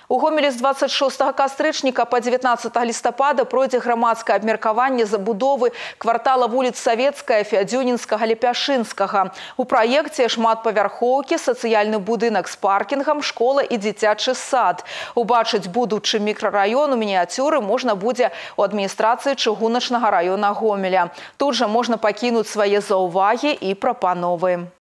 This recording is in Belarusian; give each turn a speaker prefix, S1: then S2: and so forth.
S1: У Гомелі з 26 кастрычніка па 19 лістапада пройдзе грамадскае абмеркаванне забудовы квартала вуліц Савецкая, Фядзюнінскага, Лепяшынскага. У праекце шматпавярхоўкі, сацыяльны будынак з паркінгам, школа і дзіцячы сад. Убачыць будучы мікрараён у мініяцюры можна будзе у адміністрацыі чыгуначнага раёна Гомеля. Тут жа можна пакінуць свае заўвагі і прапановы.